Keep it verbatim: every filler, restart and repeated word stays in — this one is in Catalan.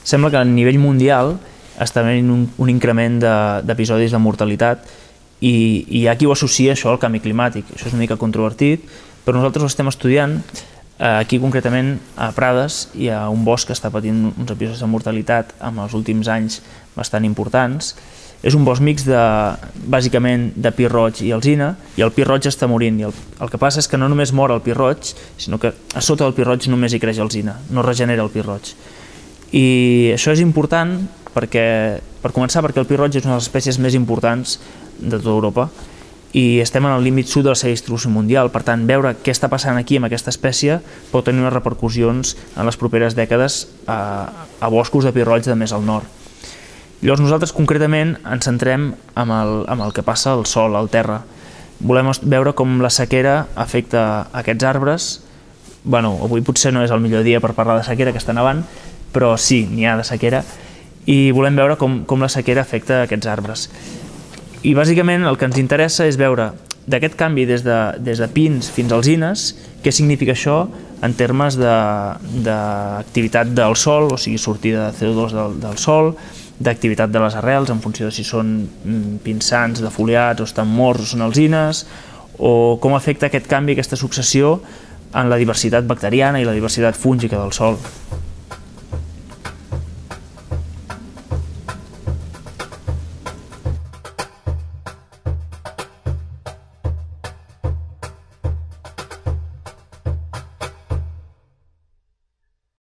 sembla que a nivell mundial està havent un, un increment d'episodis de, de mortalitat i, i hi ha qui ho associa això al canvi climàtic. Això és una mica controvertit, però nosaltres ho estem estudiant. Aquí concretament a Prades hi ha un bosc que està patint uns episodis de mortalitat en els últims anys bastant importants. És un bosc mix de, bàsicament, de pi roig i alzina, i el pi roig està morint. I el, el que passa és que no només mor el pi roig, sinó que a sota del pi roig només hi creix alzina, no regenera el pi roig. I això és important perquè, per començar, perquè el pi roig és una de les espècies més importants de tota Europa i estem en el límit sud de la seva distribució mundial. Per tant, veure què està passant aquí amb aquesta espècie pot tenir unes repercussions en les properes dècades a, a boscos de pi roig de més al nord. Llavors nosaltres concretament ens centrem en el, en el que passa al sòl, al terra. Volem veure com la sequera afecta aquests arbres. Bueno, avui potser no és el millor dia per parlar de sequera, que està nevant, però sí, n'hi ha de sequera, i volem veure com, com la sequera afecta aquests arbres. I bàsicament el que ens interessa és veure d'aquest canvi des de, des de pins fins a alzines, què significa això en termes d'activitat de, del sòl, o sigui, sortida de C O dos del, del sòl, d'activitat de les arrels en funció de si són pins sans, defoliats, o estan morts, o són alzines, o com afecta aquest canvi, aquesta successió en la diversitat bacteriana i la diversitat fúngica del sòl.